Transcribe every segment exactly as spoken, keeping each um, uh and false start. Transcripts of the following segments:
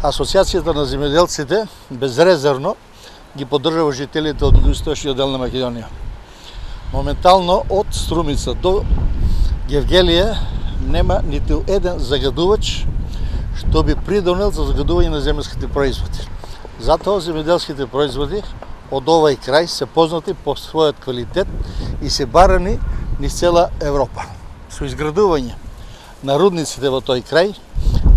Асоциацијата на земјоделците безрезервно ги поддржува жителите од југоисточниот дел на Македонија. Моментално од Струмица до Гевгелија нема ниту еден загадувач што би придонел за загадување на земјските производи. Затоа земјоделските производи од овај крај се познати по својот квалитет и се барани низ цела Европа. Со изградување на рудниците во тој крај,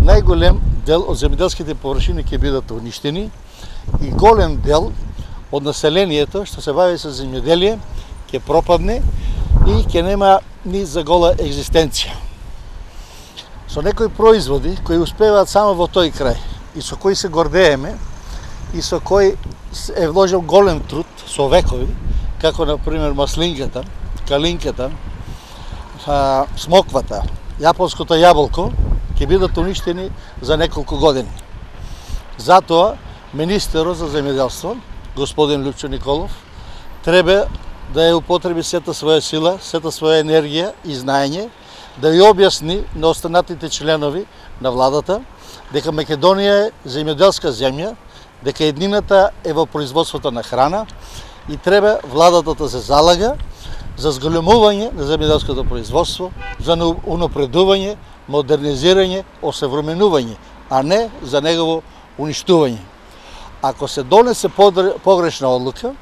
најголем дел од земјоделските површини ќе бидат уништени и голем дел од населението што се бави со земјоделие ќе пропадне и ќе нема ни за гола екзистенција. Со некои производи кои успеваат само во тој крај и со кои се гордееме и со кои е вложил голем труд со векови, како на пример маслинката, калинката, смоквата, јапонското јаболко, ќе бидат уништени за неколку години. Затоа, министерот за земјоделство, господин Лјупчо Николов, треба да ја употреби сета своја сила, сета своја енергија и знаење, да ја објасни на останатите членови на владата дека Македонија е земјоделска земја, дека еднината е во производството на храна и треба владата да се залага за зголемување на земјоделското производство, за унапредување, модернизирање, осовременување, а не за негово уништување. Ако се донесе погрешна одлука,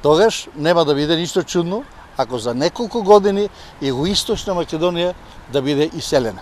тогаш нема да биде ништо чудно ако за неколку години југоисточна Македонија да биде иселена.